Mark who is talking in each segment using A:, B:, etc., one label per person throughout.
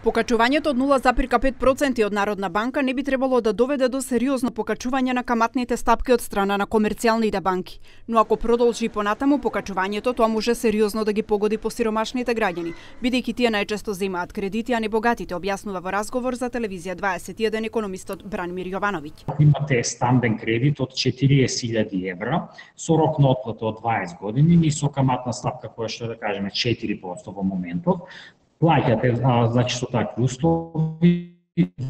A: Покачувањето од 0,5% од Народна банка не би требало да доведе до сериозно покачување на каматните стапки од страна на комерцијалните банки. Но ако продолжи понатаму покачувањето, тоа може сериозно да ги погоди посиромашните граѓани, бидејќи тие најчесто земаат кредити, а не богатите, објаснува во разговор за телевизија 21 економистот Бранимир Јовановиќ.
B: Имате стамбен кредит од 40.000 евра со рок на отплата од 20 години и со каматна стапка која што да кажеме 4% во моментов. Плаќате, значи со такви услови,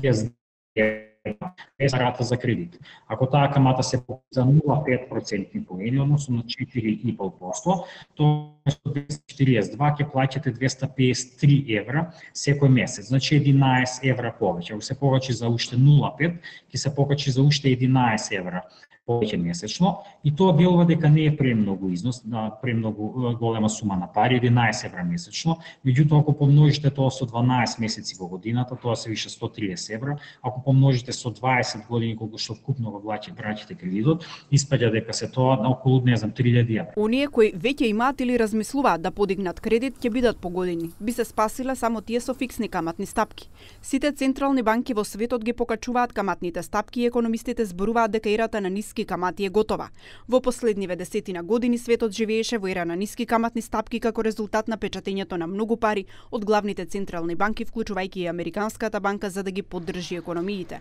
B: без рата за кредит. Ако таа камата се за 0,5% поени, односно на 4,5%, тоа со 242 ќе плаќате 253 евра секој месец. Значи 11 евра повеќе. Ако се покачи за уште 0,5, ќе се покачи за уште 11 евра повеќе месечно, и тоа делува дека не е премногу износ, премногу голема сума на пари, 11 евра месечно. Меѓутоа, ако помножите тоа со 12 месеци во годината, тоа се више 130 евра. Ако помножите со 20 години колку што вкупно го враќате кредитот, испаѓа дека се тоа на околу 3000 евра.
A: Оние кои веќе имаат или размислуваат да подигнат кредит ќе бидат погодени. Би се спасиле само тие со фиксни каматни стапки. Сите централни банки во светот ги покачуваат каматните стапки и економистите зборуваат дека ерата на ниски камати е готова. Во последниве десетина години светот живееше во ера на ниски каматни стапки како резултат на печатењето на многу пари од главните централни банки, вклучувајќи и Американската банка, за да ги поддржи економиите.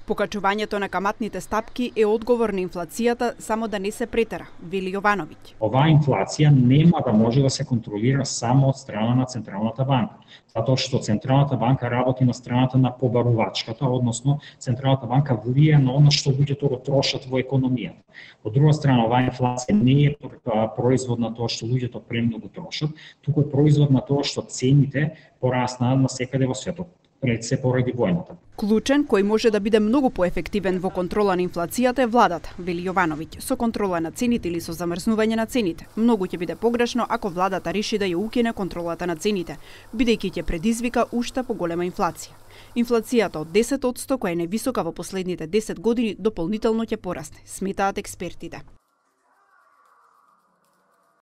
A: Покачувањето на каматните стапки е одговор на инфлацијата, само да не се претера, вели Јовановиќ.
B: Оваа инфлација нема да може да се контролира само од страна на Централната банка, затоа што Централната банка работи на страната на побарувачката, односно Централната банка влијае на она што луѓето го трошат во економијата. Од друга страна, оваа инфлација не е производ на тоа што луѓето премногу трошат, туку е производ на тоа што цените пораснаа насекаде во светот, пред се поради војната.
A: Клучен кој може да биде многу поефективен во контрола на инфлацијата е владата, вели Јовановиќ. Со контрола на цените или со замрзнување на цените, многу ќе биде погрешно ако владата реши да ја укине контролата на цените, бидејќи ќе предизвика уште поголема инфлација. Инфлацијата од 10%, која е највисока во последните 10 години, дополнително ќе порасне, сметаат експертите.